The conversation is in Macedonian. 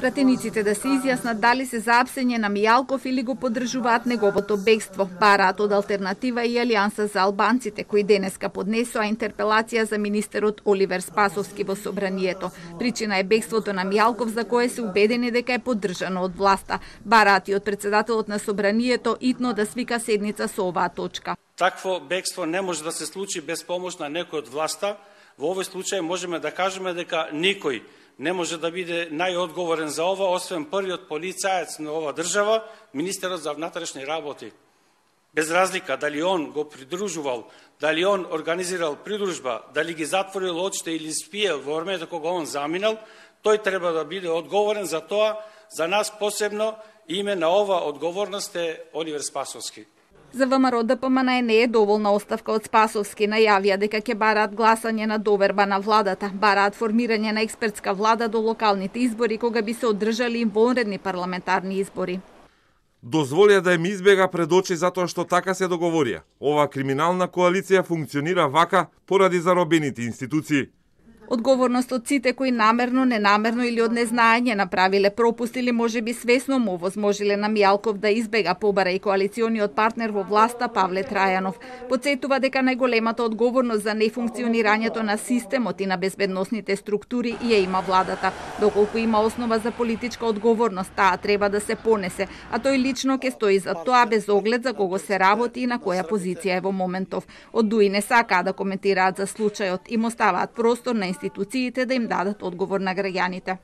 Пратениците да се изјаснат дали се за апсење на Мијалков или го поддржуваат неговото бегство. Бараат од Алтернатива и Алијанса за албанците, кои денеска поднесоа интерпелација за министерот Оливер Спасовски во собранието. Причина е бегството на Мијалков, за кое се убедени дека е поддржано од власта. Бараат и од председателот на собранието итно да свика седница со оваа точка. Такво бегство не може да се случи без помош на некој од власта. Во овој случај можеме да кажеме дека никој не може да биде најодговорен за ова, освен првиот полицаец на ова држава, министерот за внатрешни работи. Без разлика дали он го придружувал, дали он организирал придружба, дали ги затворил очите или спиел во времето кога он заминал, тој треба да биде одговорен за тоа. За нас посебно име на ова одговорност е Оливер Спасовски. За ВМРО ДПМН не е доволна оставка од Спасовски. Најавија дека ќе бараат гласање на доверба на владата, бараат формирање на експертска влада до локалните избори кога би се одржали вонредни парламентарни избори. Дозволија да им избега пред очи затоа што така се договорија. Ова криминална коалиција функционира вака поради заробените институции. Одговорност од сите кои намерно, ненамерно или од незнаење направиле пропуст или можеби свесно му возможиле на Мијалков да избега, побара и коалициониот партнер во власта Павле Трајанов. Потсетува дека најголемата одговорност за нефункционирањето на системот и на безбедносните структури ја има владата. Доколку има основа за политичка одговорност, таа треба да се понесе, а тој лично ќе стои за тоа без оглед за кого се работи и на која позиција е во моментов. Од ДУИ не сакаа да коментираат за случајот, им оставаат простор на институциите да им дадат одговор на граѓаните.